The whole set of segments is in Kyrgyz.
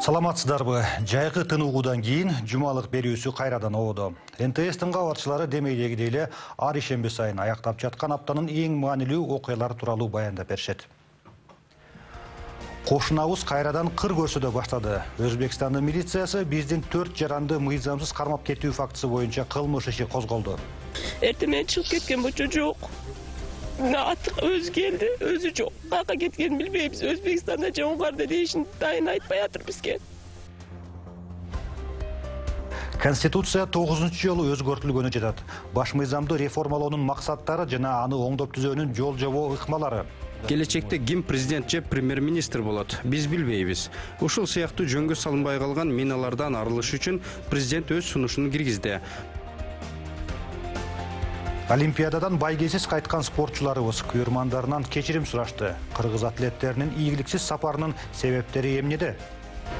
Саламатсыздарбы? Жайкы тыныгуудан кийин жумалык берүүсү кайрадан ободо. НТС-тин кабарчылары демейдегидей эле ар ишемби сайын аяктап жаткан аптанын эң маанилүү окуялары тууралуу баяндап беришет. Кошунабыз кайрадан кыр көрсөдө баштады. Өзбекстандын милициясы биздин 4 жаранды мыйзамсыз кармап кетүү фактысы боюнча кылмыш иши козголду. Эртемен чыгып кеткен бочо жок. Өзү келди, өзү жок. Каяка кеткенин билбейбиз. Өзбекстанда же Унгарда дейишин дайын айтпай атыр бизге. Конституция 9-жолу өзгөртүлгөнү жатат. Баш мыйзамды реформалоонун максаттары жана аны оңдоп түзөөнүн жол жобо ыкмалары. Келечекте ким президент же премьер-министр болот, биз билбейбиз. Ушул сыяктуу жөнгө салынбай калган миналардан арылыш үчүн президент өз сунушун киргизди. Олимпиададан байгесиз кайткан спортчуларыбыз күйөрмандарынан кечирим сурашты. Кыргыз атлеттеринин ийгиликсиз сапарынын себептери эмнеде?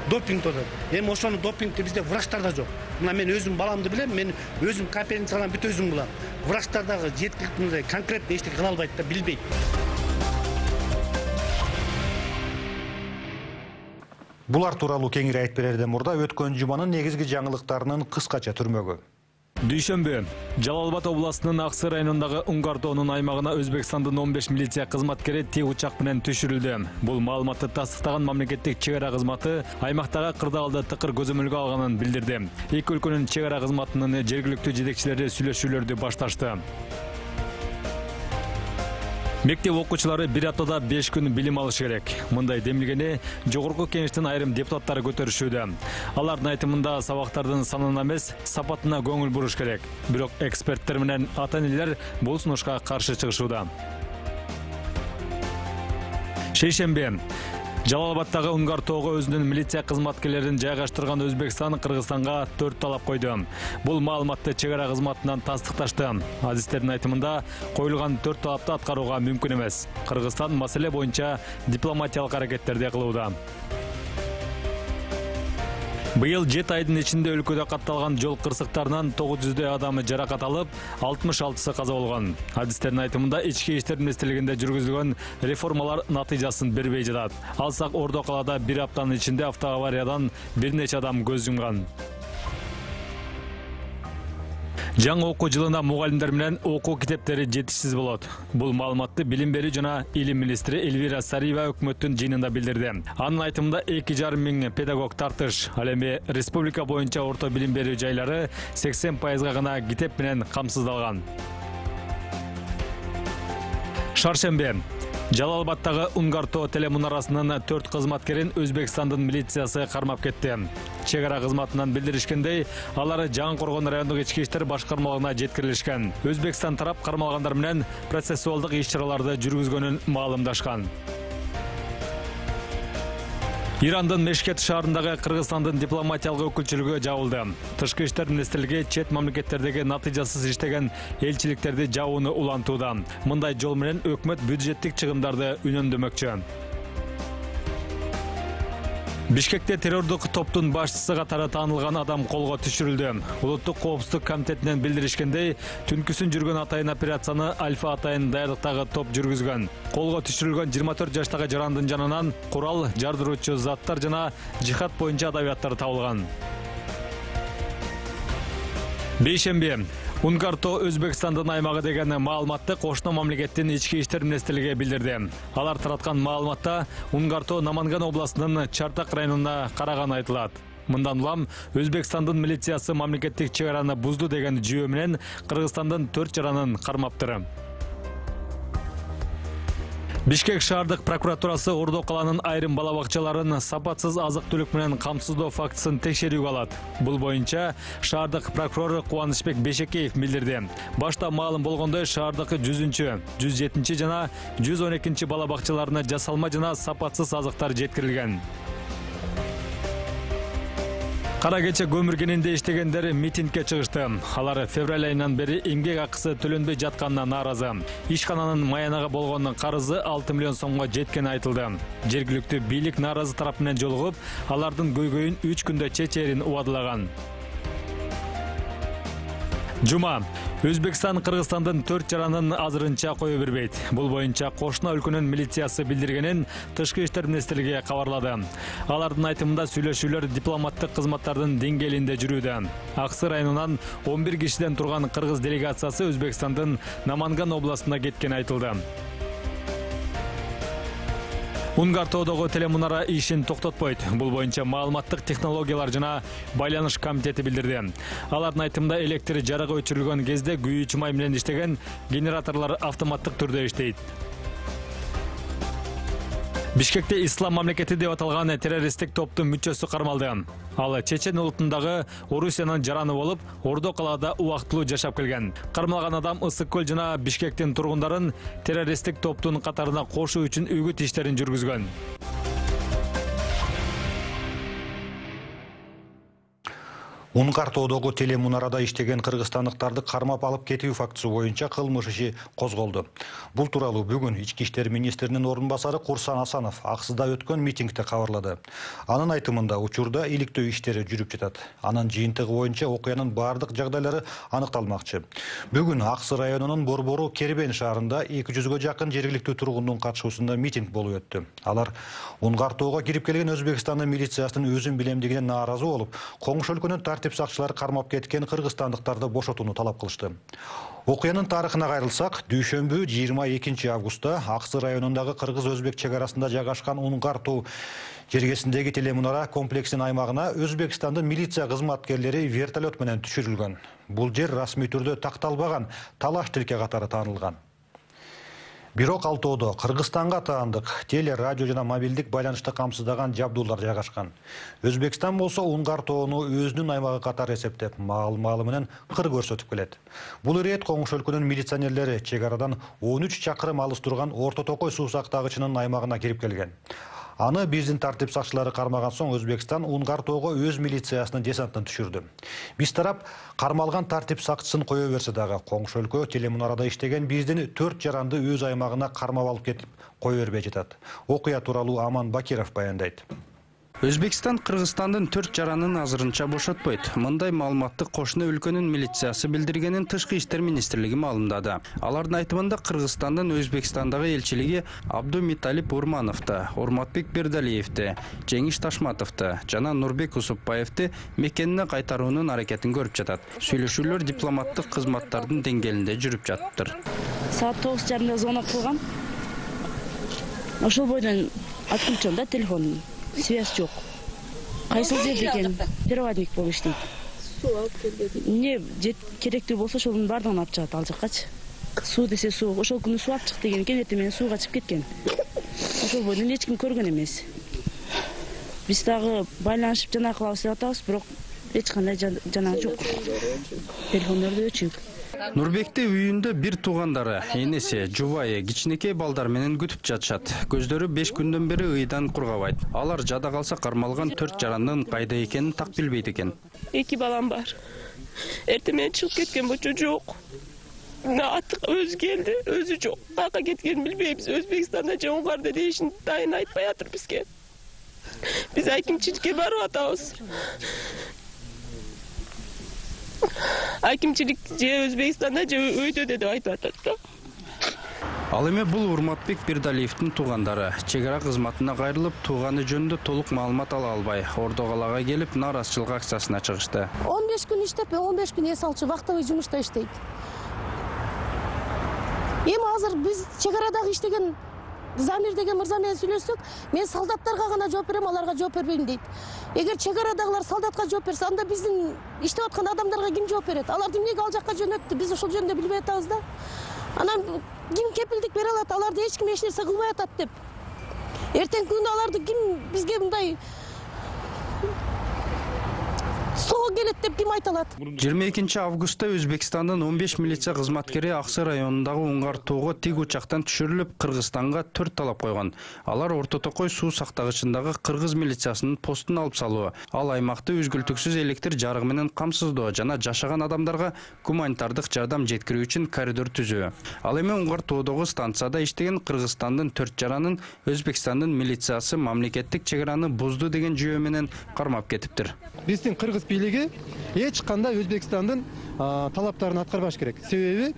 Допинг тода. Эми ошону допингти бизде врачтарда жок. Мына мен өзүм баламды билем, мен өзүм компетенциялан бүт өзүм булам. Врачтардагы жеткиликтүү конкретный эчтеке кыла албайт да, билбейт. Булар тууралуу кеңири айтып берерден мурда өткөн жуманын негизги жаңылыктарынын кыскача түрмөгү. Дүйшөмбү, Жалал Абад областынын Аксы районундагы Унгартоонун аймагына Өзбекстандын 15 милиция кызматкери тик учак менен түшүрүлдү. Бул маалыматты тастыктаган мамлекеттик чек ара кызматы аймактагы кырдаалды тыкыр көзөмөлгө алганын билдирди. Эки өлкөнүн чек ара кызматынын жергиликтүү жетекчилери сүйлөшүүлөрдү башташты. Мектеп окуучулары бир аптада 5 күн билим алыш керек. Мындай демилгени жогорку кеңештин айрым депутаттары көтөрүшүүдө. Алардын айтымында сабактардын санына эмес, сапатына көңүл буруш керек. Бирок эксперттер менен ата-энелер бул сунушка каршы чыгышууда. Шейшемби, Жалал Абадтагы Унгартоого өзүнүн милиция кызматкерлерин жайгаштырган Өзбекстан Кыргызстанга 4 талап койду. Бул маалыматты чек ара кызматынан тастыкташты. Адистердин айтымында коюлган 4 талапты аткарууга мүмкүн эмес. Кыргызстан маселе боюнча дипломатиялык аракеттерди кылууда. Быйыл 7 айдын ичинде өлкөдө катталган жол кырсыктарынан 900 адамы жаракат алып, 66сы каза болгон. Адистердин айтымында ички иштер министрлигинде жүргүзүлгөн реформалар натыйжасын бербей жатат. Алсак Ордо калаада бир аптанын ичинде автоавариядан бир нече адам көз жумган. Жаңы окуу жылына мугалимдер менен окуу китептери жетишсиз болот. Бул маалыматты билим берүү жана илим министри Эльвира Сариева өкмөттүн жыйынында билдирди. Анын айтымында 2,5 миң педагог тартыш. Ал эми республика боюнча орто билим берүү жайлары 80% гана китеп менен камсыздалган. Шаршембе, Жалал Абадтагы Унгартоо телемунарасынын 4 кызматкерин Өзбекстандын милициясы кармап кетти. Чек ара кызматынан билдиришкендей, алар Жаңы Коргон райондук ички иштер башкармалыгына жеткирилишкен. Өзбекстан тарап кармалгандар менен процессуалдык иш-чараларды жүргүзгөнүн маалымдашкан. Ирандын Мешкет шаарындагы Кыргызстандын дипломатиялык өкүлчүлүгү жабылды. Тышкы иштер министрлиги чет мамлекеттердеги натыйжасыз иштеген элчиликтерди жабууну улантууда. Мындай жол менен өкмөт бюджеттик чыгымдарды үнөмдөмөкчү. Бишкекте террордук топтун башчысы катары таанылган адам колго түшүрүлдү. Улуттук коопсуздук комитетинен билдиришкендей, түнкүсүн жүргөн атайын операцияны Альфа атайын даярдыктагы топ жүргүзгөн. Колго түшүрүлгөн 24 жаштагы жарандын жанынан курал, жардыруучу заттар жана жихад боюнча адабияттар табылган. Бейшемби, Унгартоо Өзбекстандын аймагы деген маалыматты кошуна мамлекеттин ички иштер министрлиги билдирди. Алар тараткан маалыматта Унгартоо Наманган областынын Чартак районуна караганы айтылат. Мындан улам Өзбекстандын милициясы мамлекеттик чек араны бузду деген жүйө менен Кыргызстандын 4 жаранын кармаптыр. Бишкек шаардык прокуратурасы Ордо каланын айрым бала бакчаларын сапатсыз азык-түлүк менен камсыздоо фактысын текшерүүгө алат. Бул боюнча шаардык прокурор Кубанычбек Бешекеев билдирди. Башта маалым болгондой, шаардык 100-чү, 107-чи жана 112-чи бала бакчаларына жасалма жана сапатсыз азыктар жеткирилген. Кара кече көмүр кенинде иштегендер митингге чыгышты. Алар февраль айынан бери эмгек акысы төлөнбөй жатканына нааразы. Ишкананын маянага болгон карызы 6 миллион сомго жеткени айтылды. Жергиликтүү бийлик нааразы тарап менен жолугуп, алардын көйгөйүн 3 күндө чечээрин убадылаган. Жума, Өзбекстан Кыргызстандын 4 жаранын азырынча кое бербейт. Бул боюнча кошуна өлкөнүн милициясы билдиргенин Тышкы иштер министрлиги кабарлады. Алардын айтымында сүйлөшүүлөр дипломаттык кызматтардын деңгээлинде жүрүүдө. Аксы районунан 11 кишиден турган кыргыз делегациясы Өзбекстандын Наманган областына кеткени айтылды. Унгартоодогу телемунара ишин токтотпойт. Бул боюнча маалыматтык технологиялар жана байланыш комитети билдирди. Алардын айтымында электр жарыгы өчүрүлгөн кезде күйүүчү май менен иштеген генераторлор автоматтык түрдө иштейт. Бишкекте Ислам мамлекети деп аталган террористтик топтун мүчөсү кармалды. Ал Чечен улутундагы Орусиянын жараны болуп, Ордо калаада убактылуу жашап келген. Кармалган адам Ысык көл жана Бишкектин тургундарын террористтик топтун катарына кошуу үчүн үгүт иштерин жүргүзгөн. Унгартоодогу телемунарада иштеген кыргызстандыктарды кармап алып кетүү фактысы боюнча кылмыш иши козголду. Бул тууралуу бүгүн Ички иштер министринин орун басары Курсан Асанов Аксыда өткөн митингде кабарлады. Анын айтымында учурда иликтөө иштери жүрүп жатат. Анын жыйынтыгы боюнча окуянын бардык жагдайлары аныкталмакчы. Бүгүн Аксы районунун Борбору Кербен шаарында 200гө жакын жергиликтүү тургундун катышуусунда митинг болуп өттү. Алар Унгартоого кирип келген Өзбекстандын милициясынын өзүн билемдигине нааразы болуп, коңшу өлкөнүн тартип сакчылары кармап кеткен кыргызстандыктарды бошотууну талап кылышты. Окуянын тарыхына кайрылсак, дүйшөмбү 22 августта Аксы районундагы кыргыз-өзбек чек арасында жайгашкан Унгартоо жергесиндеги телемунара комплексинин аймагына Өзбекстандын милиция кызматкерлери вертолет менен түшүрүлгөн. Бул жер расмий түрдө такталбаган талаш тилке катары таанылган. Бирок ал тоодо Кыргызстанга таандык теле, радио жана мобилдик байланышты камсыздаган жабдуулар жайгашкан. Өзбекстан болсо Унгартоону өзүнүн аймагы катары эсептеп, маал-маалы менен кыр көрсөтүп келет. Бул ирет коңшу өлкөнүн милиционерлери чек арадан 13 чакырым алыс турган Орто Токой суу сактагычынын аймагына кирип келген. Аны биздин тартип сакчылары кармаган соң Өзбекстан Унгартоого өз милициясынын десантын түшүрдү. Биз тарап кармалган тартип сакчысын кое берсе дагы коңшу өлкө телемунарада иштеген биздин 4 жаранды өз аймагына кармап алып кетип кое бербей жатат. Окуя тууралуу Аман Бакиров баяндайт. Өзбекстан Кыргызстандын 4 жаранын азырынча бошотпойт. Мындай маалыматты кошуна өлкөнүн милициясы билдиргенин Тышкы иштер министрлиги маалымдады. Алардын айтымында Кыргызстандын Өзбекстандагы элчилиги Абдумиталип Урмановду, Урматбек Бердалиевди, Жеңиш Ташматовду жана Нурбек Усупбаевди мекенине кайтаруунун аракетин көрүп жатат. Сүйлөшүүлөр дипломаттык кызматтардын деңгээлинде жүрүп жатыптыр. Саат 9:30 звонок кылган. Ошол бойдон откручон да телефонун. Связь жок. Кайсыл жерде экен? Переводник болуп иштейт. Суу алып келди. Эмне керектүү болсо ошонун бардыгын алып чыгат ал жаккачы. Суу десе суу, ошол күнү суу алып чык деген экен, эртең менен сууга чыгып кеткен. Ошол бойдон эч ким көргөн эмес. Биз дагы байланышып жана кылабыз деп атабыз, бирок эч кандай жанагы жок. Телефондорду өчүк. Нурбекти үйүндө бир туугандары, энеси, жубайы, кичинекей балдар менен күтүп жатышат. Көздөрү 5 күндөн бери ыйдан кургабайт. Алар жада калса кармалган 4 жарандын кайда экенин так билбейт экен. 2 балам бар. Эртең менен чыгып кеткен болчу жок. Аты өзү келди, өзү жок. Каяка кеткенин билбейбиз. Өзбекстанда же Унгарда дейишин дайын айтпай атыр бизге. Биз акимчиликке барып атабыз. Акимчилик же Өзбекстанда же өйдө деп айтып атат да. Ал эми бул Урматбек Бердалиевдин туугандары чек ара кызматына кайрылып, тууганы жөнүндө толук маалымат ала албай, Ордо калаага келип, нааразычылык акциясына чыгышты. 15 күн иштеп, 15 күн эс алчу вактовый жумушта иштейт. Эми азыр биз чек арадагы иштеген Замир деген мырза менен сүйлөшсөк, мен солдаттарга гана жооп берем, аларга жооп бербейм дейт. Эгер чек арадагылар солдатка жооп берсе, анда биздин иштеп аткан адамдарга ким жооп берет? Аларды эмнеге ал жакка жөнөттү? Биз ошол жөнүндө билбей атабыз да. Анан ким кепилдик бере алат? Аларды эч ким эч нерсе кылбай атат деп. Эртең күнү аларды ким бизге мындай соо келет деп ким айта алат? 22 августта Өзбекстандын 15 милиция кызматкери Аксы районундагы Унгартоого тик учактан түшүрүлүп, Кыргызстанга 4 талап койгон. Алар Орто Токой суу сактагычындагы кыргыз милициясынын постун алып салуу, ал аймакты үзгүлтүксүз электр жарыгы менен камсыздоо жана жашаган адамдарга гуманитардык жардам жеткирүү үчүн коридор түзүү. Ал эми Унгартоодогу станцияда иштеген Кыргызстандын 4 жаранын Өзбекстандын милициясы мамлекеттик чек араны бузду деген жүйө менен кармап кетиптир. Биздин кыргыз облус бийлиги эч кандай Өзбекстандын талаптарын аткарбаш керек. Себеби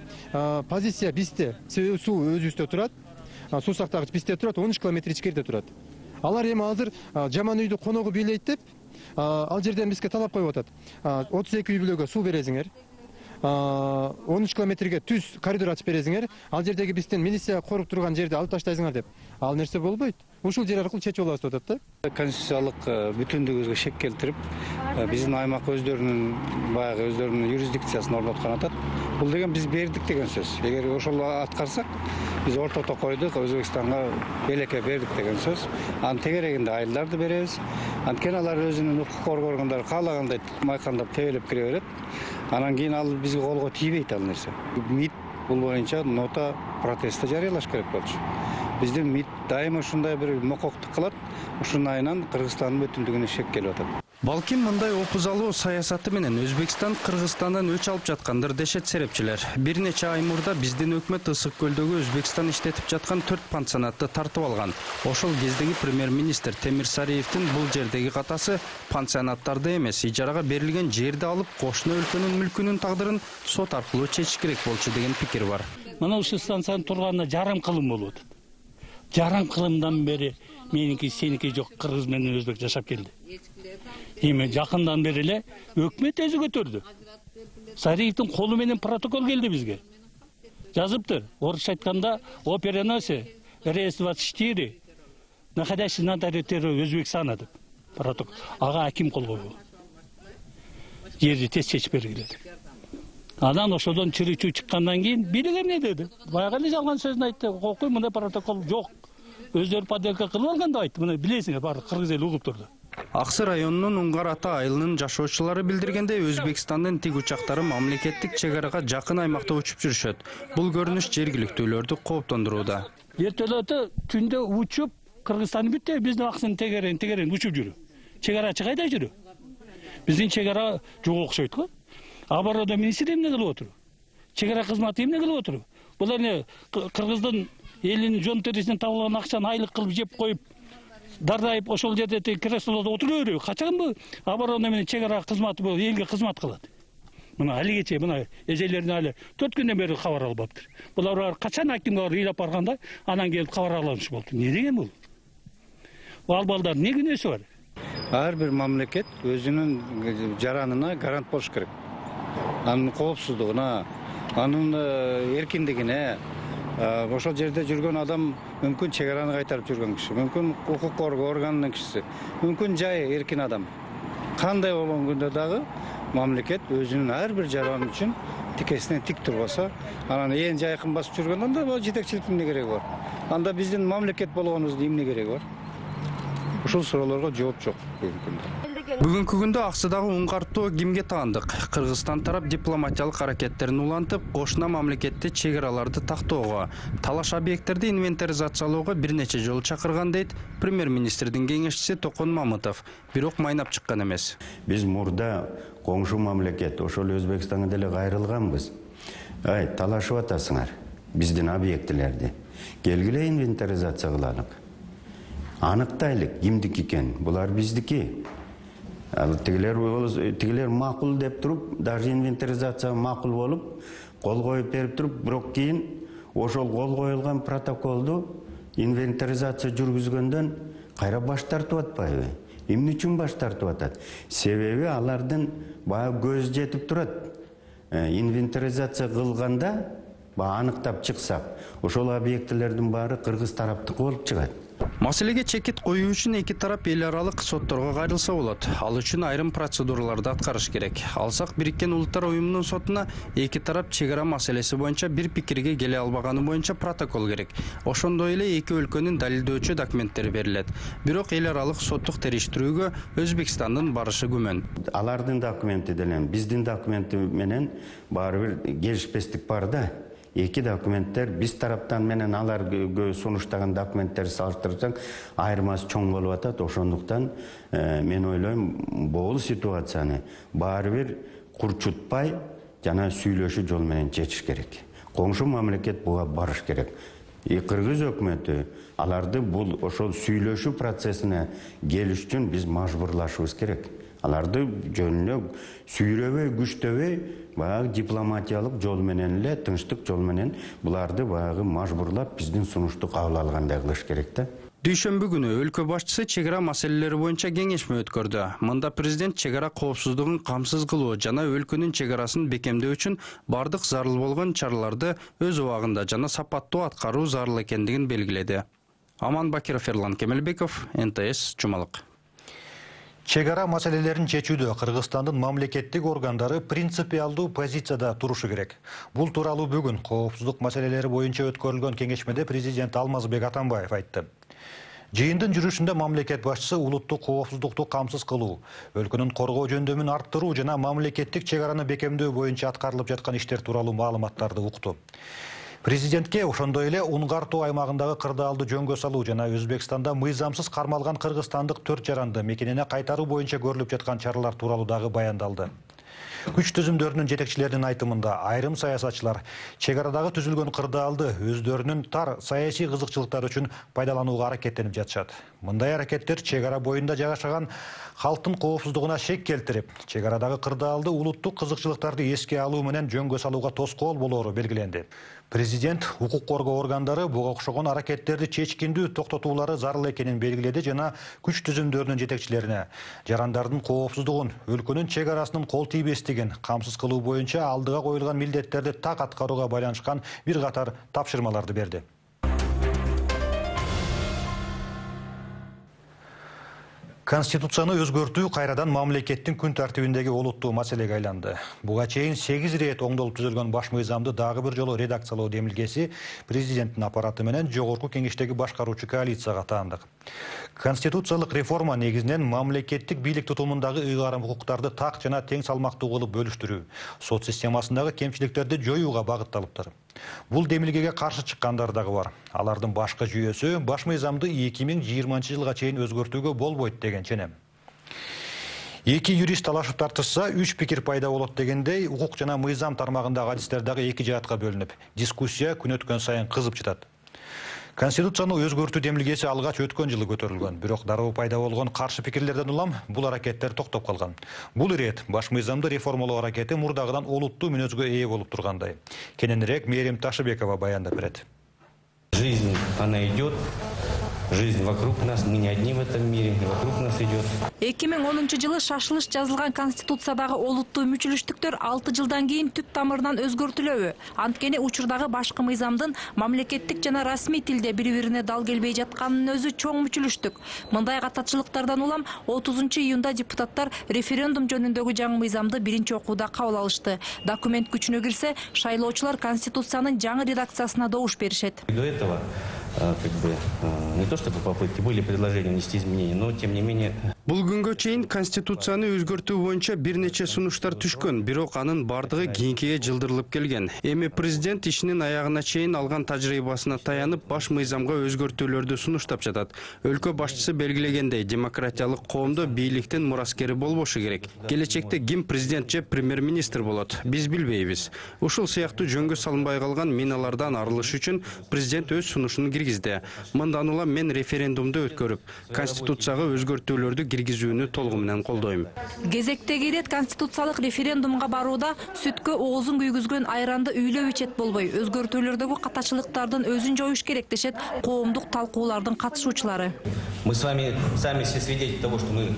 позиция бизде, себеби суу өзүбүздө турат. Суу сактагыч бизде турат, 13 километр ичкерде турат. Алар эми азыр жаман үйдү коногу бийлейт деп ал жерден бизге талап коюп атат. 32 үй бүлөгө суу бересиңер. 13 километрге түз коридор ачып бересиңер. Ал жердеги биздин милиция коруп турган жерди алып таштайсыңар деп. Ал нерсе болбойт. Ушул жер аркылуу чечип алабыз деп атат да. Конституциялык бүтүндүгүбүзгө шек келтирип, биздин аймак өздөрүнүн юрисдикциясын орноткон атат. Бул деген биз бердик деген сөз. Эгер ошол аткарсак, биз ортото койдук, Өзбекстанга белекке бердик деген сөз. Анын тегерегинде айылдарды беребиз. Анткени алар өзүнүн укук коргоо органдары каалагандай майкандап тебелеп кире берет. Анан кийин ал бизге колго тийбейт ал нерсе. МИД бул боюнча нота протеста жарыялаш керек болчу. Биздин МИД дайыма ушундай бир мококтук кылат. Ушунун айынан Кыргызстандын бүтүндүгүнө шек келип атат. Балким мындай опузалуу саясаты менен Өзбекстан Кыргызстандан өч алып жаткандыр дешет серепчилер. Бир нече ай мурда биздин өкмөт Ысык көлдөгү Өзбекстан иштетип жаткан 4 пансионатты тартып алган. Ошол кездеги премьер-министр Темир Сариевдин бул жердеги катасы пансионаттарды эмес, ижарага берилген жерди алып, кошуна өлкөнүн мүлкүнүн тагдырын сот аркылуу чечиш керек болчу деген пикир бар. Мына ушул станциянын турганына жарым кылым болуп атат. Жарым кылымдан бери меники сеники жок, кыргыз менен өзбек жашап келди. Эми жакындан бери эле өкмөт өзү көтөрдү. Сариевдин колу менен протокол келди бизге. Жазыптыр. Орусча айтканда операносе РС-24 находящийся на территории Өзбекстана деп протокол. Ага аким кол койгон. Жерди тез чечип бергиле деп. Анан ошодон чырый-чуу чыккандан кийин бийлик эмне деди? Баягы эле жалган сөзүн айтты. Окуй, мындай протокол жок. Өздөрү подделка кылып алган деп айтты. Мына билесиңер, баары кыргыз эли угуп турду. Аксы районунун Уңгар ата айылынын жашоочулары билдиргендей, Өзбекстандын тиг учактары мамлекеттик чек арага жакын аймакта учуп жүрүшөт. Бул көрүнүш жергиликтүүлөрдү кооптондурууда. Вертолеты түндө учуп, Кыргызстан бүтө биздин аксын тегерен учуп жүрү. Чек арачы кайда жүрү? Биздин чек ара жок окшойт го. Оборона министри эмне кылып отур? Чек ара кызматы эмне кылып отур? Бул эми Кыргыздын элинин жон терисинен табылган акчаны айлык кылып жеп коюп, дардайып ошол жерде креслодо отура берүү. Качан бул оборона менен чек ара кызматы бул элге кызмат кылат? Мына алигече мына эжелерин али 4 күндөн бери кабар албаптыр. Булар качан акимге ыйлап барганда анан келип кабар алыныш болду. Не деген бул? Ал балдар не күнөөсү бар? Ар бир мамлекет өзүнүн жаранына гарант болуш керек. Анын коопсуздугуна, анын эркиндигине, ошол жерде жүргөн адам мүмкүн чек араны кайтарып жүргөн киши, мүмкүн укук коргоо органынын кишиси, мүмкүн жай эркин адам. Кандай болгон күндө дагы мамлекет өзүнүн ар бир жараны үчүн тикесинен тик турбаса, анан ээн жайкын басып жүргөндө анда жетекчиликтин эмне кереги бар? Анда биздин мамлекет болгонубуздун эмне кереги бар? Ушул суроолорго жооп жок бүгүнкү күндө. Бүгүнкү күндө аксыдагы Уңгартоо кимге таандык? Кыргызстан тарап дипломатиялык аракеттерин улантып, кошуна мамлекетте чек араларды тактоого, талаш объекттерди инвентаризациялоого бир нече жолу чакырган дейт премьер-министрдин кеңешчиси Токон Мамытов. Бирок майнап чыккан эмес. Биз мурда коңшу мамлекет, ошол Өзбекстанга деле кайрылганбыз. Талашып атасыңар биздин объектилерди. Келгиле инвентаризация кылалык. Аныктайлык кимдики экен, булар биздики. Тигилер макул деп туруп, даже инвентаризация макул болуп, кол коюп берип туруп, бирок кийин ошол кол коюлган протоколду инвентаризация жүргүзгөндөн кайра баш тартып атпайбы? Эмне үчүн баш тартып атат? Себеби алардын баягы көз жетип турат. Инвентаризация кылганда, аныктап чыксак, ошол объектилердин баары кыргыз тараптыкы болуп чыгат. Маселеге чекит коюу үчүн эки тарап эл аралык сотторго кайрылса болот. Ал үчүн айрым процедураларды аткарыш керек. Алсак Бириккен Улуттар уюмунун сотуна эки тарап чек ара маселеси боюнча бир пикирге келе албаганы боюнча протокол керек. Ошондой эле эки өлкөнүн далилдөөчү документтери берилет. Бирок эл аралык соттук териштирүүгө Өзбекстандын барышы күмөн. Алардын документи менен биздин документи менен баары бир келишпестик бар да. Эки документтер биз тараптан менен алар сунуштаган документтерди салыштырсаң айырмасы чоң болуп атат. Ошондуктан мен ойлойм, бул ситуацияны баары бир курчутпай жана сүйлөшүү жол менен чечиш керек. Коңшу мамлекет буга барыш керек. Кыргыз өкмөтү аларды бул ошол сүйлөшүү процессине келиш үчүн биз мажбурлашыбыз керек. Аларды жөнүнө сүйрөбөй, күчтөбөй, баягы дипломатиялык жол менен эле, тынчтык жол менен буларды баягы мажбурлап биздин сунушту кабыл алгандай кылыш керек да. Дүйшөмбү күнү өлкө башчысы чек ара маселелери боюнча кеңешме өткөрдү. Мында президент чек ара коопсуздугун камсыз кылуу жана өлкөнүн чек арасын бекемдөө үчүн бардык зарыл болгон чараларды өз убагында жана сапаттуу аткаруу зарыл экендигин белгиледи. Аман Бакиров, Ерлан Кемелбеков, НТС, Жумалык. Чек ара маселелерин чечүүдө Кыргызстандын мамлекеттик органдары принципиалдуу позицияда турушу керек. Бул тууралуу бүгүн коопсуздук маселелери боюнча өткөрүлгөн кеңешмеде президент Алмазбек Атамбаев айтты. Жыйындын жүрүшүндө мамлекет башчысы улуттук коопсуздукту камсыз кылуу, өлкөнүн коргоо жөндөмүн арттыруу жана мамлекеттик чек араны бекемдөө боюнча аткарылып жаткан иштер тууралуу маалыматтарды укту. Президентке ошондой эле Унгар тоо аймагындагы кырдаалды жөнгө салуу жана Өзбекстанда мыйзамсыз кармалган кыргызстандык 4 жаранды мекенине кайтаруу боюнча көрүлүп жаткан чаралар тууралуу дагы баяндалды. Күч түзүмдөрүнүн жетекчилеринин айтымында айрым саясатчылар чек арадагы түзүлгөн кырдаалды өздөрүнүн тар саясий кызыкчылыктары үчүн пайдаланууга аракеттенип жатышат. Мындай аракеттер чек ара боюнда жайгашкан халктын коопсуздугуна шек келтирип, чек арадагы кырдаалды улуттук кызыкчылыктарды эске алуу менен жөнгө салууга тоскоол болоору белгиленди. Президент укук коргоо органдары буга окшогон аракеттерди чечкиндүү токтотуулары зарыл экенин белгиледи жана күч түзүмдөрүнүн жетекчилерине жарандардын коопсуздугун, өлкөнүн чек арасынын кол тийбестигин камсыз кылуу боюнча алдыга коюлган милдеттерди так аткарууга байланышкан бир катар тапшырмаларды берди. Конституцияны өзгөртүү кайрадан мамлекеттин күн тартибиндеги олуттуу маселеге айланды. Буга чейин 8 рет оңдолуп түзүлгөн баш мыйзамды дагы бир жолу редакциялоо демилгеси президенттин аппараты менен жогорку кеңештеги башкаруучу коалицияга таандык. Конституциялык реформа негизинен мамлекеттик бийлик тутумундагы ыйгарым укуктарды так жана тең салмактуу кылып бөлүштүрүү, сот системасындагы кемчиликтерди жоюуга багытталыптыр. Бул демилгеге каршы чыккандар дагы бар. Алардын башкы жүйөсү баш мыйзамды 2020-жылга чейин өзгөртүүгө болбойт деген ченем. Эки юрист талашып тартышса, 3 пикир пайда болот дегендей, укук жана мыйзам тармагындагы адистер дагы эки жаатка бөлүнүп, дискуссия күн өткөн сайын кызып жатат. Конституцияны өзгөртүү демилгеси алгач өткөн жылы көтөрүлгөн, бирок дароо пайда болгон каршы пикирлерден улам бул аракеттер токтоп калган. Бул ирет баш мыйзамды реформалоо аракети мурдагыдан олуттуу мүнөзгө ээ болуп тургандай. Кененирээк Мээрим Ташыбекова баяндап берет. Жизнь, она идет. Жизнь вокруг нас, мы не одни в этом мире, вокруг нас идет. 2010-жылы шашылыш жазылган Конституциядагы олуттуу мүчүлүштүктөр 6 жылдан кийин түп тамырынан өзгөртүлөбү? Анткени учурдагы башкы мыйзамдын мамлекеттик жана расмий тилде бири-бирине дал келбей жатканынын өзү чоң мүчүлүштүк. Мындай катачылыктардан улам 30-июнда депутаттар референдум жөнүндөгү жаңы мыйзамды биринчи окууда кабыл алышты. Документ күчүнө кирсе, шайлоочулар Конституциянын жаңы редакциясына добуш беришет. До этого не то чтобы попытки, были предложения внести изменения, но тем не менее. Бул күнгө чейин Конституцияны өзгөртүү боюнча бир нече сунуштар түшкөн, бирок анын бардыгы кийинкиге жылдырылып келген. Эми президент ишинин аягына чейин алган тажрыйбасына таянып, баш мыйзамга өзгөртүүлөрдү сунуштап жатат. Өлкө башчысы белгилегендей, демократиялык коомдо бийликтин мураскери болбошу керек. Келечекте ким президент же премьер-министр болот, биз билбейбиз. Ушул сыяктуу жөнгө салынбай калган миналардан арылыш үчүн президент өз сунушун киргизди. Мындан улам мен референдумду өткөрүп, Конституцияга өзгөртүүлөрдү киргизүүнү толугу менен колдойм. Кезектеги ирет конституциялык референдумга барууда сүткө оозун күйгүзгөн айранды үйлөп ичет болбой, өзгөртүүлөрдөгү катачылыктардын өзүн жоюш керек дешет коомдук талкуулардын катышуучулары. Мы с вами сами все свидетели того, что мы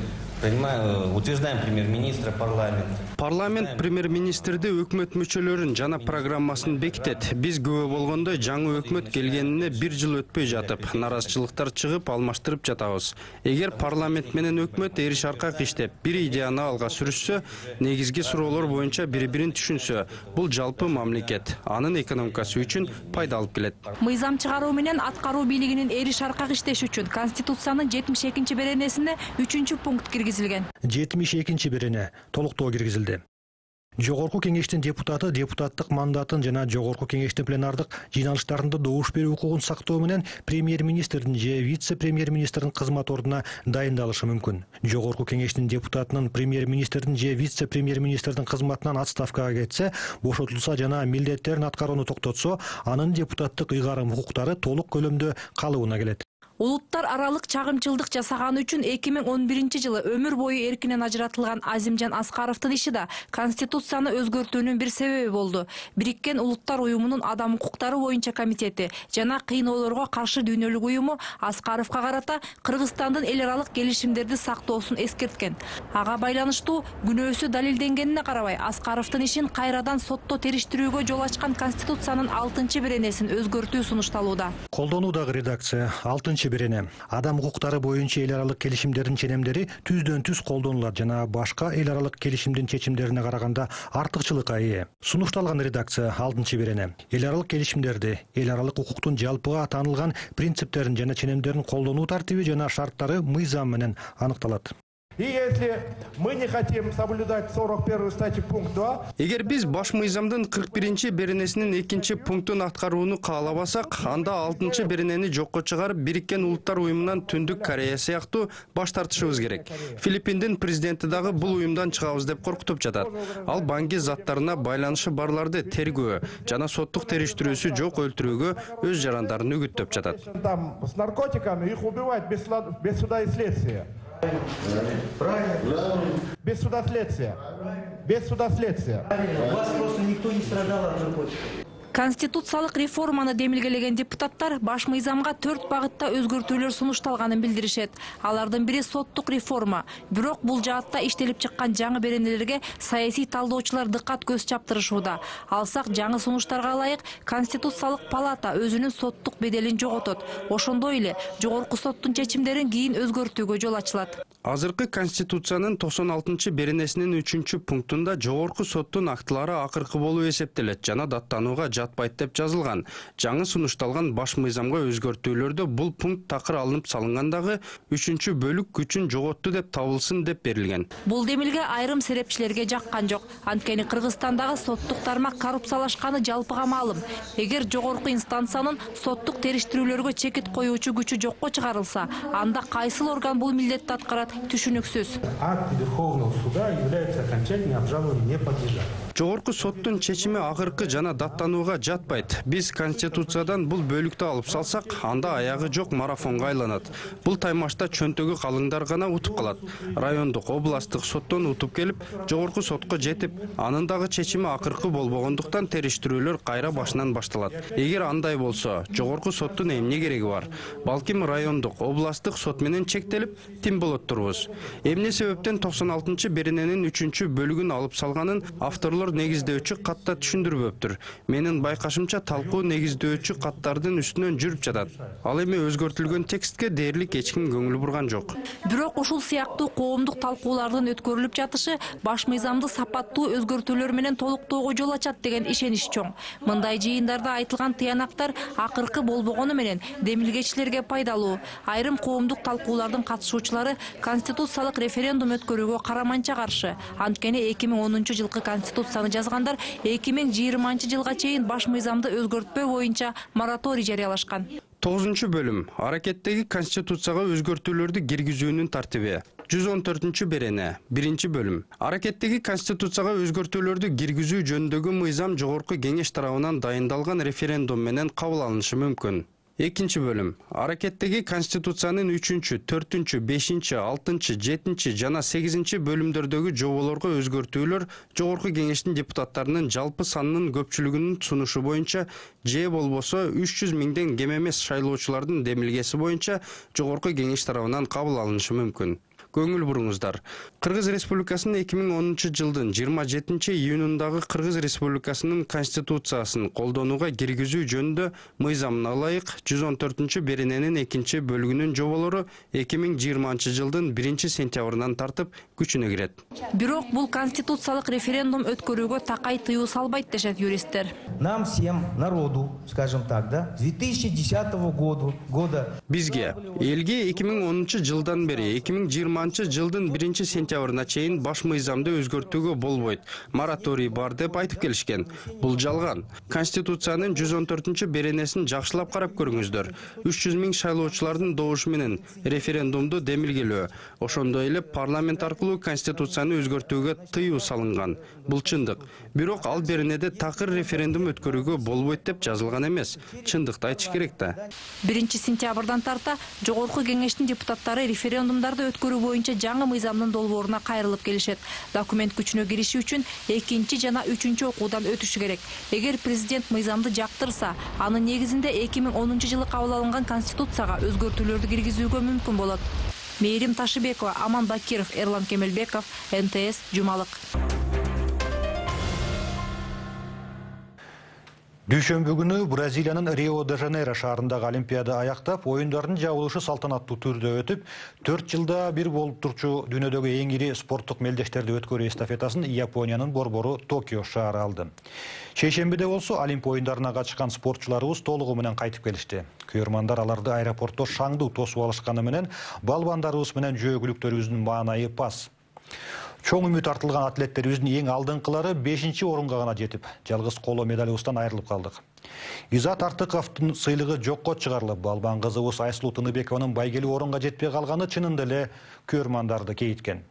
утверждаем премьер-министра, парламент. Парламент премьер-министрди өкмөт мүчөлөрүн жана программасын бекитет. Биз күбө болгондой жаңы өкмөт келгенине бир жыл өтпөй жатып, наразычылыктар чыгып, алмаштырып жатабыз. Эгер парламент менен өкмөт эри шаркак иштеп, бир идеяны алга сүрүшсө, негизги суроолор боюнча бири-бирин түшүнсө, бул жалпы мамлекет, анын экономикасы үчүн пайда алып келет. Мыйзам чыгаруу менен аткаруу бийлигинин эри шаркак иштеши үчүн Конституциянын 72 беренесине 3-пункт киргизилген. 72 берене толуктоо киргизилди. Жогорку кеңештин депутаты депутаттык мандатын жана жогорку кеңештин пленардык жыйналыштарында добуш берүү укугун сактоо менен премьер-министрдин же вице-премьер-министрдин кызмат ордуна дайындалышы мүмкүн. Жогорку кеңештин депутатынын премьер-министрдин же вице-премьер-министрдин кызматынан отставкага кетсе, бошотулса жана милдеттерин аткарууну токтотсо, анын депутаттык ыйгарым укуктары толук көлөмдө калыбына келет. Улуттар аралык чагымчылдык жасаганы үчүн 2011-жылы өмүр бою эркинен ажыратылган Азимжан Аскаровдун иши да Конституцияны өзгөртүүнүн бир себеби болду. Бириккен Улуттар уюмунун адам укуктары боюнча комитети жана кыйноолорго каршы дүйнөлүк уюму Аскаровго карата Кыргызстандын эл аралык келишимдерди сактоосун эскерткен. Ага байланыштуу күнөөсү далилденгенине карабай, Аскаровдун ишин кайрадан сотто териштирүүгө жол ачкан Конституциянын 6-беренесин өзгөртүү сунушталууда. Колдонуудагы редакция 6-берене. Адам укуктары боюнча эл аралык келишимдердин ченемдери түздөн-түз колдонулат жана башка эл аралык келишимдин чечимдерине караганда артыкчылыкка ээ. Сунушталган редакция 6-берене. Эл аралык келишимдерди, эл аралык укуктун жалпыга таанылган принциптерин жана ченемдерин колдонуу тартиби жана шарттары мыйзам менен аныкталат. И если мы не хотим соблюдать 41 статью пункт 2... Эгер биз баш мыйзамдын 41-беренесинин 2-пунктун аткарууну каалабасак, анда 6-беренени жокко чыгарып, Бириккен Улуттар уюмунан Түндүк Корея сыяктуу баш тартышыбыз керек. Филиппиндин президенти дагы бул уюмдан чыгабыз деп коркутуп жатат. Ал банги заттарына байланышы барларды тергөө жана соттук териштирүүсү жок өлтүрүүгө өз жарандарын үгүттөп жатат. Там с наркотиками их убивают без суда и следствия. Правильно. Без суда следствия. Без суда следствия. У вас просто никто не страдал от наркотиков. Конституциялык реформаны демилгелеген депутаттар баш мыйзамга 4 багытта өзгөртүүлөр сунушталганын билдиришет. Алардын бири соттук реформа. Бирок бул жаатта иштелип чыккан жаңы беренелерге саясий талдоочулар дыккат көз чаптырышууда. Алсак жаңы сунуштарга ылайык Конституциялык палата өзүнүн соттук беделин жоготот. Ошондой эле жогорку соттун чечимдерин кийин өзгөртүүгө жол ачылат. Азыркы Конституциянын 96-беренесинин 3-пунктунда жогорку соттун актылары акыркы болуп эсептелет жана даттанууга жатпайт деп жазылган. Жаңы сунушталган баш мыйзамга өзгөртүүлөрдө бул пункт такыр алынып салынгандагы 3-бөлүк күчүн жоготту деп табылсын деп берилген. Бул демилге айрым серепчилерге жаккан жок. Анткени Кыргызстандагы соттук тармак коррупциялашканы жалпыга маалым. Эгер жогорку инстанциянын соттук териштирүүлөргө чекит коюучу күчү жокко чыгарылса, анда кайсыл орган бул милдетти аткарат түшүнүксүз. Акт Верховного суда является окончательно обжалованию не подлежат. Жогорку соттун чечими акыркы жана даттанууга жатпайт. Биз Конституциядан бул бөлүктү алып салсак, анда аягы жок марафонго айланат. Бул таймашта чөнтөгү калыңдар гана утуп калат. Райондук, областтык соттон утуп келип, жогорку сотко жетип, анын дагы чечими акыркы болбогондуктан териштирүүлөр кайра башынан башталат. Эгер андай болсо, жогорку соттун эмне кереги бар? Балким райондук, областтык сот менен чектелип, тим болот турбуз. Эмне себептен 96-берененин 3-бөлүгүн алып салганын авторлор негиздөөчү катта түшүндүрбөптүр. Менин байкашымча талкуу негиздөөчү каттардын үстүнөн жүрүп жатат. Ал эми өзгөртүлгөн текстке дээрлик эч ким көңүл бурган жок. Бирок ушул сыяктуу коомдук талкуулардын өткөрүлүп жатышы баш мыйзамды сапаттуу өзгөртүүлөр менен толуктоого жол ачат деген ишенич чоң. Мындай жыйындарда айтылган тыянактар акыркы болбогону менен демилгечилерге пайдалуу. Айрым коомдук талкуулардын катышуучулары конституциялык референдум өткөрүүгө караманча каршы. Анткени 2010-жылкы конституцияны жазгандар 2020-жылга чейин баш мыйзамды өзгөртпөө боюнча мораторий жарыялашкан. 9-бөлүм. Аракеттеги конституцияга өзгөртүүлөрдү киргизүүнүн тартиби. 114-берене. 1-бөлүм. Аракеттеги конституцияга өзгөртүүлөрдү киргизүү жөнүндөгү мыйзам жогорку кеңеш тарабынан дайындалган референдум менен кабыл алынышы мүмкүн. 2-бөлүм. Аракеттеги конституциянын 3-чү, 4-чү, 5-чи, 6-чы, 7-чи жана 8-чи бөлүмдөрдөгү жоболорго өзгөртүүлөр жогорку кеңештин депутаттарынын жалпы санынын көпчүлүгүнүн сунушу боюнча же болбосо 300 миңден кем эмес шайлоочулардын демилгеси боюнча жогорку кеңеш тарабынан кабыл алынышы мүмкүн. Көңүл буруңуздар. Кыргыз Республикасынын 2010-жылдын 27-июнундагы Кыргыз Республикасынын конституциясын колдонууга киргизүү жөнүндө мыйзамына ылайык 114-берененин 2-бөлүгүнүн жоболору 2020-жылдын 1-сентябрынан тартып күчүнө кирет. Бирок бул конституциялык референдум өткөрүүгө такай тыюу салбайт дешет юристтер. Нам всем, народу, скажем так, да, с 2010 года бизге элге 2010-жылдан бери жылдын 1-сентябрына чейин баш мыйзамды өзгөртүүгө болбойт, мораторий бар деп айтып келишкен. Бул жалган. Конституциянын 114-беренесин жакшылап карап көрүңүздөр. 300 000 шайлоочулардын добушу менен референдумду демилгелөө. Ошондой эле парламент аркылуу Конституцияны өзгөртүүгө тыюу салынган. Бул чындык. Бирок ал беренеде такыр референдум өткөрүүгө болбойт деп жазылган эмес. Чындыкты айтыш керек да. 1-сентябрдан тарта Жогорку Кеңештин депутаттары референдумдарды өткөрүү боюнча жаңы мыйзамдын долбооруна кайрылып келишет. Документ күчүнө кириши үчүн 2 жана 3 окуудан өтүшү керек. Эгер президент мыйзамды жактырса, анын негизинде 2010 жылы кабыл алынган Конституцияга өзгөртүүлөрдү киргизүүгө мүмкүн болот. Мээрим Ташыбекова, Аман Бакиров, Эрлан Кемелбеков, НТС, Жумалык. Дүйшөмбү күнү Бразилиянын Рио-де-Жанейро шаарындагы Олимпиада аяктап, оюндардын жабылышы салтанаттуу түрдө өтүп, 4 жылда бир болуп турчу дүйнөдөгү эң ири спорттук мелдештерди өткөрүү эстафетасын Япониянын борбору Токио шаары алды. Шейшембиде болсо Олимп оюндарына катышкан спортчуларыбыз толугу менен кайтып келишти. Күйөрмандар аларды аэропортто шаңдуу тосуп алышканы менен балбандарыбыз менен жөөгүлүктөрүбүздүн маанайы пас. Чоң үмүт артылган атлеттерибиздин эң алдыңкылары 5-орунга гана жетип, жалгыз коло медалыбыздан айрылып калдык. Изат Артыковдун сыйлыгы жокко чыгарылып, балбан кызыбыз Айсулуу Тыныбекованын байгелүү орунга жетпей калганы чынында эле күйөрмандарды кейиткен.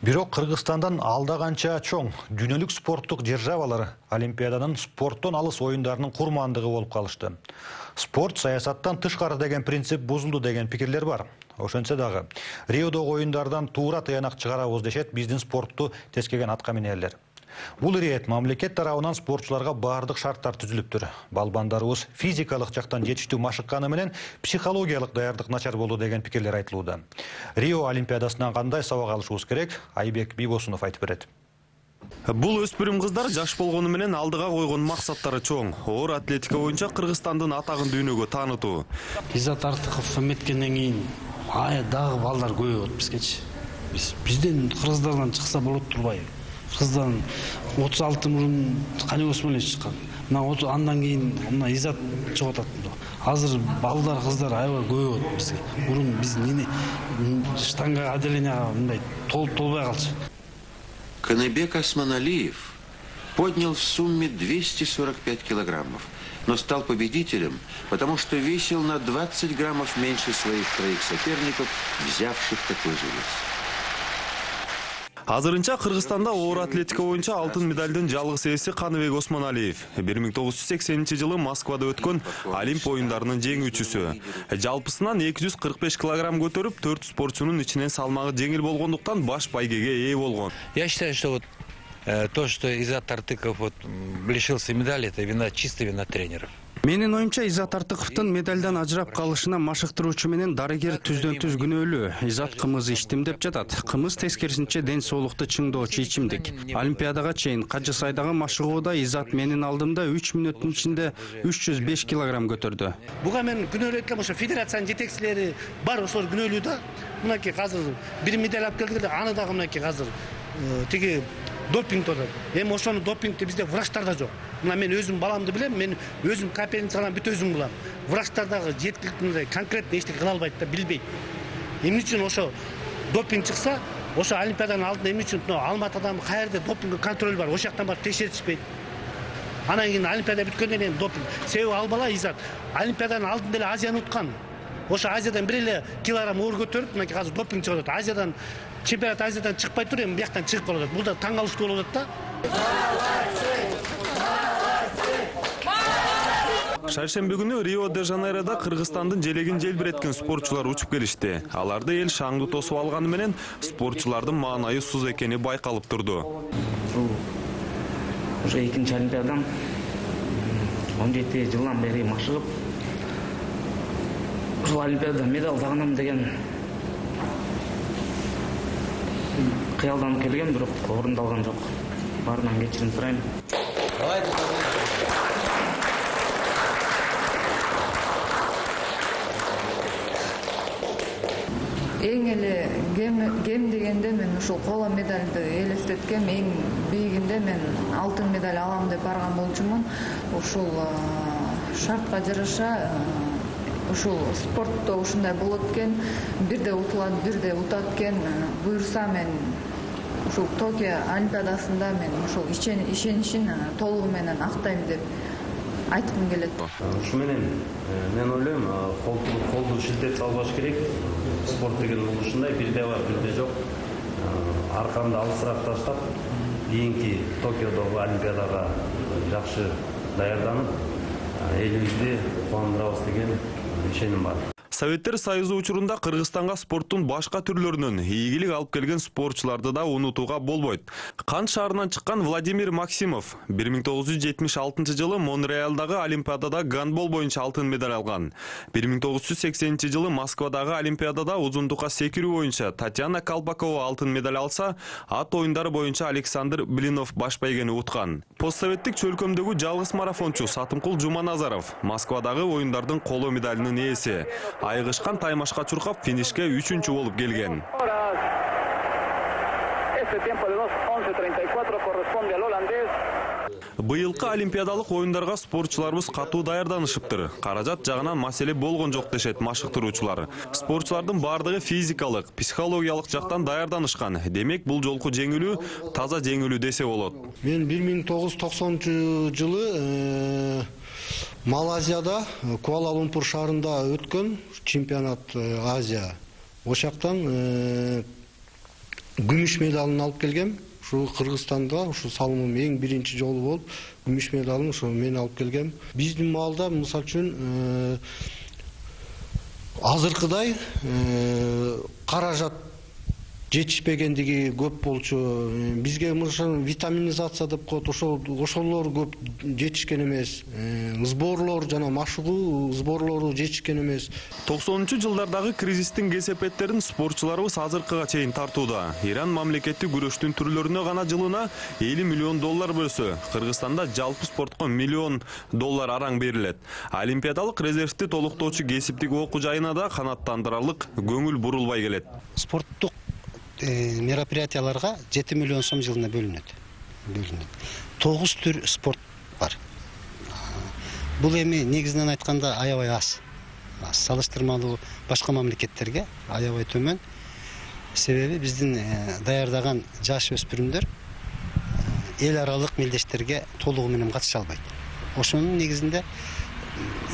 Бирок Кыргызстандан алда канча чоң дүйнөлүк спорттук державалар Олимпиаданын спорттон алыс оюндарынын курмандыгы болуп калышты. Спорт саясаттан тышкары деген принцип бузулду деген пикирлер бар. Ошентсе дагы Риодогу оюндардан туура тыянак чыгарабыз дешет биздин спортту тескеген атка минерлер. Бул ирет мамлекет тарабынан спортчуларга бардык шарттар түзүлүптүр. Балбандарыбыз физикалык жактан жетиштүү машыкканы менен психологиялык даярдык начар болду деген пикирлер айтылууда. Рио Олимпиадасынан кандай сабак алышыбыз керек? Айбек Бибосунов айтып берет. Бул өспүрүм кыздар жаш болгону менен алдыга койгон максаттары чоң. Оор атлетика боюнча Кыргызстандын атагын дүйнөгө таанытуу. Изат Артыков эметкенден кийин дагы балдар көбөйөт бизгечи. Бизден кыргыздардан чыкса болот турбайбы? Кыргыздан 36 мурун Кани Осмонович чыккан. Андан кийин Изат чыгып атат. Азыр балдар кыздар аябай көбөйөт бизге. Мурун биз штанга отделенияга мындай толбой калчу. Каныбек Осмоналиев поднял в сумме 245 килограммов, но стал победителем, потому что весил на 20 граммов меньше своих троих соперников, взявших такой же вес. Азырынча Кыргызстанда оор атлетика боюнча алтын медалдын жалгыз ээси Каныбек Осмоналиев 1980 жылы Москвада өткөн Олимп оюндарынын жеңүүчүсү. Жалпысынан 245 килограмм көтөрүп, 4 спортчунун ичинен салмагы жеңил болгондуктан баш байгеге ээ болгон. Я считаю, что то, что Изат Артыков лишился медали, это чисто вина тренеров. Менин оюмча Изат Артыковдун медалдан ажырап калышына машыктыруучу менен дарыгер түздөн-түз күнөөлүү. Изат кымыз ичтим деп жатат. Кымыз тескерисинче ден соолукту чыңдоочу ичимдик. Олимпиадага чейин Кажы Сайдагы машыгууда Изат менин алдымда 3 мүнөттүн ичинде 305 килограмм көтөрдү. Буга мен күнөөлөп эткем, ошо федерациянын жетекчилери бар, ошолор күнөөлүү да. Мынакей азыр бир медаль алып келдик, аны дагы мынакей азыр тиги допинг турат. Эми ошону допингти бизде врачтарда жок. Мен өзүм баламды билем, мен өзүм капельницадан бүт өзүм кылам. Врачтар дагы жеткиликтүү конкретно эчтеке кыла албайт да, билбейт. Эмне үчүн ошо допинг чыкса, ошо Олимпиаданын алдында эмне үчүн Алматыда каерде допинг контроль бар, ошол жактан барып текшертишпейт. Анан кийин Олимпиада бүткөндөн кийин допинг. Себеби ал бала Изат Олимпиаданын алдында эле Азияны уткан. Ошо Азиядан бир эле килограмм оор көтөрүп, мынакей азыр допинг чыгып атат. Азиядан чемпионат Азиядан чыкпай туруп, эми бияктан чыгып калып атат. Бул да таң калыштуу болуп атат да. Шаршемби күнү Рио-де-Жанейрода Кыргызстандын желегин желбиреткен спортчулар учуп келишти. Аларды эл шаңды тосуп алганы менен спортчулардын маанайы суз экени байкалып турду. Уже 2-нчи Олимпиадам 17 жылдан бери машыгып, ушул Олимпиадада медаль тагынам деген кыялданып келген, бирок орундалган жок. Баарынан кечирим сурайм. Эң эле кем дегенде мен ушул коло медальды элестеткем, эң бийигинде мен алтын медаль алам деп барган болчумун. Ушул шартка жараша ушул спортто ушундай болот экен, бирде утулат, бирде утат экен. Буюрса мен ушул Токио Олимпиадасында мен ушул ишенишин толугу менен актайм деп айткым келет. Ушу менен мен ойлойм, колду шилтеп салбаш керек. Спорт деген бул ушундай, бирде бар, бирде жок. Аркамды алысыраак таштап, кийинки Токиодогу Олимпиадага жакшы даярданып, элибизди кубандырабыз деген ишеним бар. Советтер Союзу учурунда Кыргызстанга спорттун башка түрлөрүнөн ийгилик алып келген спортчуларды да унутууга болбойт. Кант шаарынан чыккан Владимир Максимов 1976 жылы Монреалдагы Олимпиадада гандбол боюнча алтын медаль алган. 1980 жылы Москвадагы Олимпиадада узундукка секирүү боюнча Татьяна Колпакова алтын медаль алса, ат оюндары боюнча Александр Блинов баш байгени уткан. Постсоветтик чөлкөмдөгү жалгыз марафончу Сатымкул Жуманазаров Москвадагы оюндардын коло медалинин ээси. Айгышкан таймашка чуркап финишке 3-чү болуп келген. Быйылкы олимпиадалык оюндарга спортчуларыбыз катуу даярданышыптыр. Каражат жагынан маселе болгон жок дешет машыктыруучулар. Спортчулардын бардыгы физикалык, психологиялык жактан даярданышкан. Демек, бул жолку жеңилүү таза жеңилүү десе болот. Мен 1990-жылы Малайзияда, Куала-Лумпур шаарында өткөн чемпионат Азия. Ошактан күмүш медалын алып келгем. Ушу Кыргызстанда, ушу салымым эң биринчи жолу болуп, күмүш медалын ушу мен алып келгем. Биздин маалда, мисалы үчүн, азыркыдай каражат жетишпегендиги көп болчу. Бизге витаминизация деп коет, ошолор көп жетишкен эмес. Сборлор жана машыгуу сборлору жетишкен эмес. 90-жылдардагы кризистин кесепеттерин спортчуларыбыз азыркыга чейин тартууда. Иран мамлекети күрөштүн түрлөрүнө гана жылына $50 миллион бөлсө, Кыргызстанда жалпы спортко $1 миллион араң берилет. Олимпиадалык резервти толуктоочу кесиптик окуу жайына да канааттандырарлык көңүл бурулбай келет. Спорттук мероприятияларга 7 миллион сом жылына бөлүнөт. 9 түр спорт бар. Бул эми негизинен айтканда аябай аз. Салыштырмалуу башка мамлекеттерге аябай төмөн. Себеби биздин даярдаган жаш өспүрүмдөр эл аралык мелдештерге толугу менен катыша албайт. Ошонун негизинде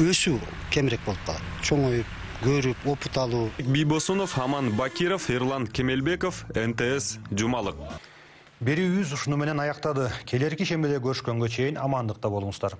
өсүү кемирээк болуп калат. Чоңоюп, көрүп, опут алуу. Бибосунов, Аман Бакиров, Эрлан Кемелбеков, НТС, Жумалык. Берүүбүз ушуну менен аяктады. Келерки шембиде көрүшкөнгө чейин амандыкта болуңуздар.